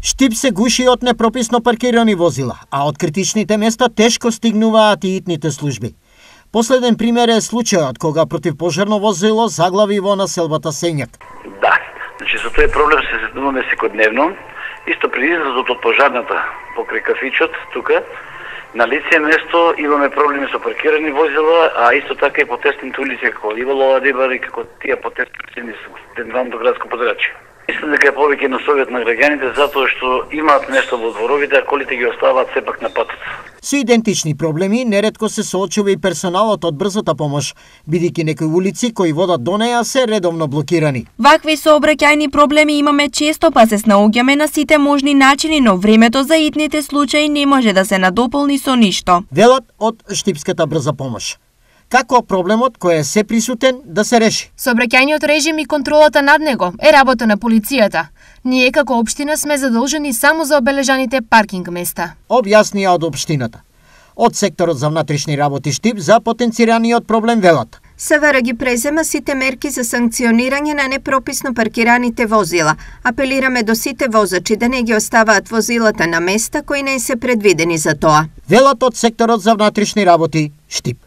Штип се гуши од непрописно паркирани возила, а од критичните места тешко стигнуваат и итните служби. Последен пример е случајот кога противпожарно возило заглави во населбата Сењак. Да, значи со тој проблем се сретнуваме секојдневно. Исто при излазот од пожарната покрај кафичот, тука, на лице место имаме проблеми со паркирани возила, а исто така и по тесните улици како Ливолова Рибар и како тие потесни улици со централното градско подрачје. Мислам дека е повеќе на совет на граѓаните затоа што имаат место во дворовите, а колите ги оставаат сепак на патот. Со идентични проблеми неретко се соочува и персоналот од брзата помош, бидејќи некои улици кои водат до неа се редовно блокирани. Вакви сообраќајни проблеми имаме често, па се снаоѓаме на сите можни начини, но времето за итните случаи не може да се надополни со ништо. Велат од Штипската брза помош. Како проблемот кој е се присутен да се реши? Сообраќајниот режим и контролата над него е работа на полицијата. Ние како општина сме задолжени само за обележаните паркинг места. Објаснија од општината. Од секторот за внатрешни работи Штип за потенцираниот проблем велат. СВР ги презема сите мерки за санкционирање на непрописно паркираните возила. Апелираме до сите возачи да не ги оставаат возилата на места кои не се предвидени за тоа. Велат од секторот за внатрешни работи Штип.